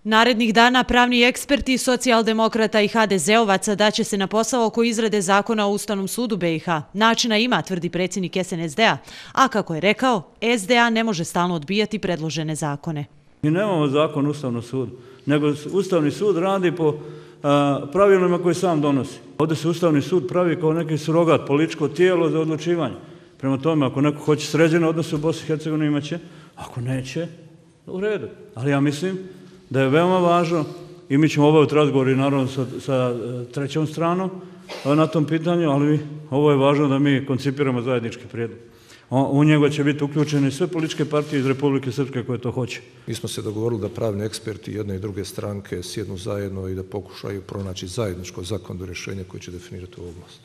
Narednih dana pravni eksperti socijaldemokrata i HDZ-ovaca daće se na posao oko izrade zakona o Ustavnom sudu BiH. Načina ima, tvrdi predsjednik SNSD-a, a kako je rekao, SDA ne može stalno odbijati predložene zakone. Mi nemamo zakon o Ustavnom sudu, nego Ustavni sud radi po pravilima koje sam donosi. Ovdje se Ustavni sud pravi kao neki surogat, političko tijelo za odlučivanje. Prema tome, ako neko hoće sređene odnose u Bosni i Hercegovini imaće, ako neće, u redu. Ali ja mislim da je veoma važno i mi ćemo obaviti razgovor i naravno sa trećom stranom na tom pitanju, ali ovo je važno da mi koncipiramo zajednički prijedlog. U njega će biti uključene sve političke partije iz Republike Srpske koje to hoće. Mi smo se dogovorili da pravni eksperti jedne i druge stranke sjednu zajedno i da pokušaju pronaći zajedničko zakonodavno rješenje koje će definirati ovu oblast.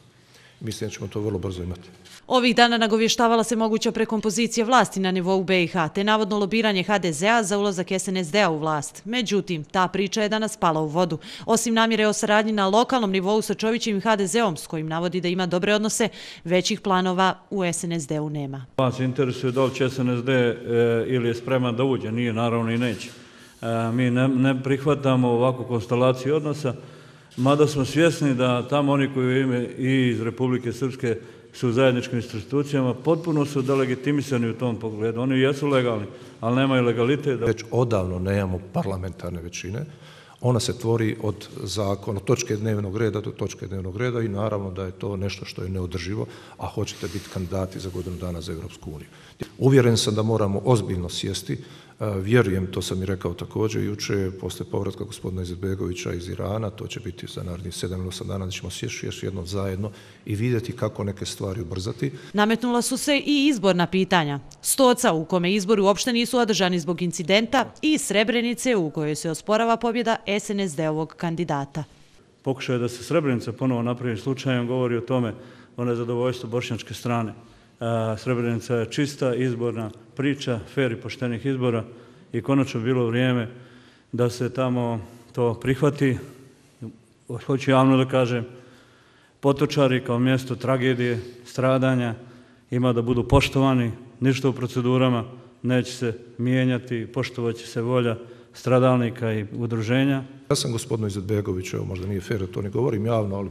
Mislim da ćemo to vrlo brzo imati. Ovih dana nagovještavala se moguća prekompozicija vlasti na nivou BiH, te navodno lobiranje HDZ-a za ulazak SNSD-a u vlast. Međutim, ta priča je danas pala u vodu. Osim namjere o saradnji na lokalnom nivou sa Čovićevim HDZ-om, s kojim navodi da ima dobre odnose, većih planova u SNSD-u nema. Vas interesuje da li će SNSD ili je spreman da uđe, nije naravno i neće. Mi ne prihvatamo ovakvu konstelaciju odnosa, mada smo svjesni da tamo oni koji ime i iz Republike Srpske su u zajedničkim institucijama, potpuno su delegitimisani u tom pogledu. Oni jesu legalni, ali nemaju legalitet. Već odavno nemamo parlamentarne većine. Ona se tvori od zakona, od točke dnevnog reda do točke dnevnog reda i naravno da je to nešto što je neodrživo, a hoćete biti kandidati za godinu dana za Europsku uniju. Uvjeren sam da moramo ozbiljno sjesti. Vjerujem, to sam i rekao također jučer, posle povratka gospodina Izetbegovića iz Irana, to će biti za narednih 7 ili 8 dana, da ćemo sjesti još jednom zajedno i vidjeti kako neke stvari ubrzati. Nametnula su se i izborna pitanja. Stoca, u kome izbori uopšte nisu održani zbog incidenta, i Srebrenice, u kojoj se osporava pobjeda SNSD-ovog kandidata. Pokušaj da se Srebrenica ponovo napravi slučajem govori o tome, o nezadovoljstvu bošnjačke strane. Srebrenica je čista izborna priča, fer i poštenih izbora i konačno bilo vrijeme da se tamo to prihvati. Hoću javno da kažem, Potočari kao mjesto tragedije, stradanja, ima da budu poštovani, ništa u procedurama neće se mijenjati, poštovat će se volja stradalnika i udruženja. Ja sam gospodinu Izetbegoviću, evo možda nije fer da to ne govorim javno, ali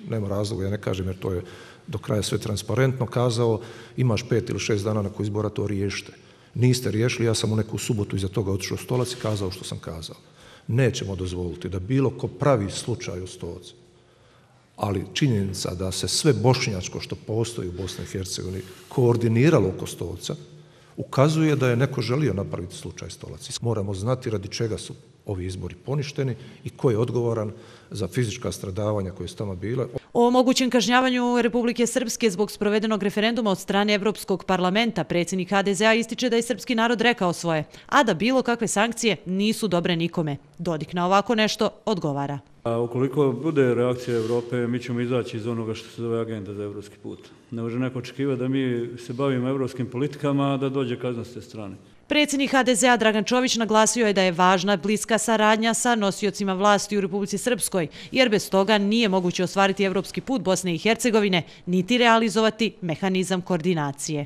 nema razloga, ja ne kažem jer to je do kraja sve transparentno, kazao imaš 5 ili 6 dana nakon izbora to riješite. Niste riješili, ja sam u neku subotu iza toga otišao u Stolac i kazao što sam kazao. Nećemo dozvoliti da bilo ko pravi slučaj u Stolcu, ali činjenica da se sve bošnjačko što postoji u Bosni i Hercegovini koordiniralo oko Stolca, ukazuje da je neko želio napraviti slučaj Stolac. Moramo znati radi čega su ovi izbori poništeni i ko je odgovoran za fizička stradavanja koje su tamo bile. O mogućem kažnjavanju Republike Srpske zbog sprovedenog referenduma od strane Evropskog parlamenta predsjednik HDZ-a ističe da je srpski narod rekao svoje, a da bilo kakve sankcije nisu dobre nikome. Dodik na ovako nešto odgovara. Ukoliko bude reakcija Evrope, mi ćemo izaći iz onoga što se zove agenda za evropski put. Ne može neko očekivati da mi se bavimo evropskim politikama, a da dođe kazna s te strane. Predsjednik HDZ-a Dragan Čović naglasio je da je važna bliska saradnja sa nosiocima vlasti u Republici Srpskoj, jer bez toga nije moguće ostvariti evropski put Bosne i Hercegovine, niti realizovati mehanizam koordinacije.